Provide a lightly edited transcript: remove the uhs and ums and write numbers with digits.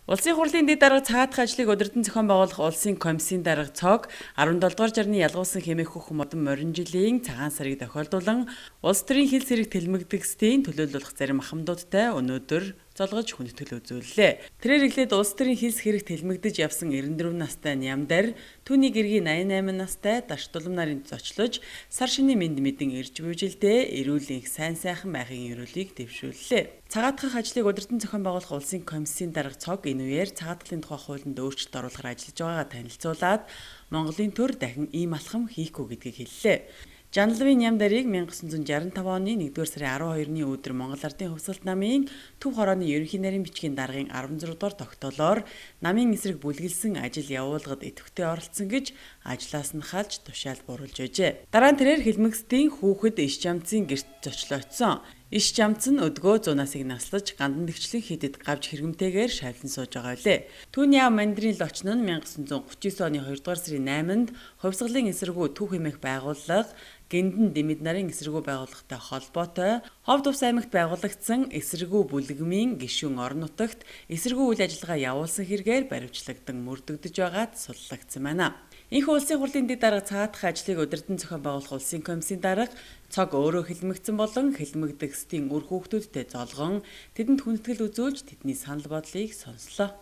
Улсын хурлын дэд дарга цагаатах ажлыг удирдан зохион байгуулах улсын комиссийн дарга ЦОГ 17 дугаар жарны ялгуулсан хэмээх хөх модон морин жилийн цагаан сарыг тохиолдуулан улс төрийн хил зэрэг тэлмэгдэгсдийн төлөөлөх зарим ахмадуудтай өнөөдөр золгож хүндэтгэл үзүүллээ. Тэрээр эхлээд улс төрийн хилс хэрэг тэлмэгдэж явсан 94 настай Нямдар түүний гэргийн 88 настай Даш Дулам нарын зочлож сар шинийн мэнд мэдэн ирж буйжилдээ эрүүл энх сайн сайхан байхын ерөөлийг дэвшүүллээ. Цагаатгах ажлыг удирдан зохион байгуулах улсын комиссийн дарга ЦОГ энэ үеэр цагаатгалын тухай хуулинд өөрчлөлт оруулахар ажиллаж байгаагаа танилцуулаад Монголын төр дахин ийм алхам хийхгүй гэдгийг хэллээ. Жанлавын Нямдарыг 1965 оны 1-р сарын 12-ны өдөр Монгол Ардын Хувьсгалт намын Төв хорооны ерөнхий нарийн бичгийн даргын 16 дугаар тогтоолоор намын эсрэг бүлгэлсэн ажил явуулгад идэвхтэй оролцсон гэж ажлаас нь халж тушаал бууруулж байжээ. Дараа нь тэрээр Хэлмэгсдийн хүүхэд иш жамцын гэрт зочлогдсон. Иш жамц нь өдгөө 100 насыг наслаж гандан дэгчлэн хідэд гавж хэрэмтэйгээр шавлан сууж байгаа үлээ. Түүний аав мандрын лочин нь 1939 оны 2 дугаар сарын 8-нд хувьсгалын эсэргүү Төв хэмээх байгууллага Гэндан Дэмэд нарын эсэргүү байгууллагатай холбоотой Ховд Ус аймагт байгуулагдсан эсэргүү бүлгэмийн гишүүн орон нутагт эсэргүү үйл ажиллагаа явуулсан хэрэгээр баривчлагдсан мөрдөгдөж байгаад суллагдсан байна. Энэхүү улсын хурлын дэд дарга цагаатгах ажлыг удирдан зохион байгуулах улсын комиссийн дарга ЦОГ өөрөө хэлмэгдсэн болон хэлмэгдэгсдийн үр хүүхдүүдтэй золгон тэдэнд хүндэтгэл үзүүлж тэдний санал бодлыг сонслоо.